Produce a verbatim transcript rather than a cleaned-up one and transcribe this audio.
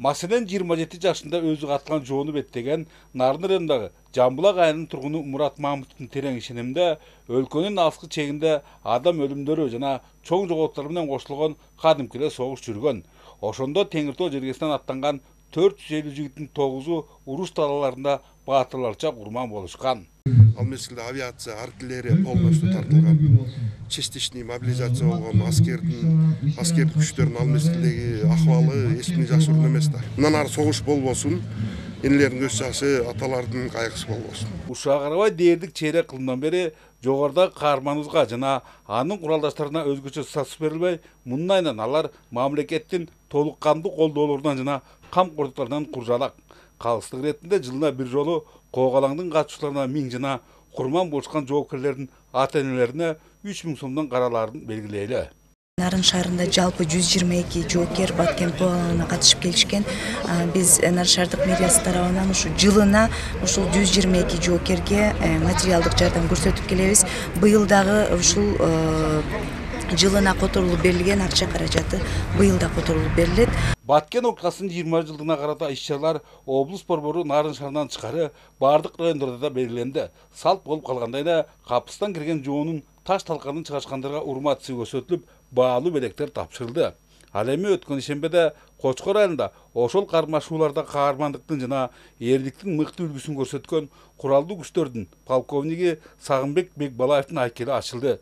Маселен жыйырма жети жашында өзү каткан жоону беттеген Нарын районундагы Жамбулак айылынын тургуну Мурат Мамытовдун терең ишениминде өлкөнүн алыскы чегинде адам өлүмдөрү жана чоң жоготуулар менен кошулгон кадимки эле согуш жүргөн. Ошондо Теңир Тоо жергесинен аттанган төрт жүз элүү жигиттин тогузу уруш талааларында баатырларча курман болушкан. Ал мезгилде авиация, артиллерия полностью тартылган. Частичный мобилизация болгон аскердин аскердик күчтөрдүн ал мезгилдеги акыбалы эч кимге жакшы эмес да. Мындан ары согуш болбосун, энелердин көз жашы, аталардын кайгысы болбосун. Ушуга карабай дээрлик чейрек кылымдан бери жогорудагы каарманыбызга жана анын куралдаштарына өзгөчө статус берилбей, мындан айынан алар мамлекеттин толук кандуу колдоолорунан жана камкордуктарынан куржалак. Калыстык иретинде жылына бир жолу Коогалаңдын катчыларына миң жана курман болушкан жоопкерлердин ата-энелерине үч миң сомдон караларын белгилейли. Нарын шаарында жалпы жүз жыйырма эки жоокер Баткен Коогалаңына катышып келишкен. Биз Нарын шаардык мэриясы тарабынан ушу жылына ушул жүз жыйырма эки жоокерге материалдык жардам көрсөтүп келебиз. Быйыл дагы ушул жылына которулуп берилген акча каражаты быйыл да которулуп берилет. Баткен окуясынын жыйырма жылдыгына карата иш-чаралар облус борбору Нарын шаарынан тышкары бардык райондордо да белгиленди. Салт болуп калгандай эле капыстан кирген жоонун таш талканын чыгашкандарга урмат-сый көрсөтүлүп, баалуу белектер тапшырылды. Ал эми өткөн ишембеде Кочкор айылында ошол кармашууларда каармандыктын жана эрликтин мыкты үлгүсүн көрсөткөн куралдуу күчтөрдүн полковниги Сагынбек Бекбалаевдин айкели ачылды.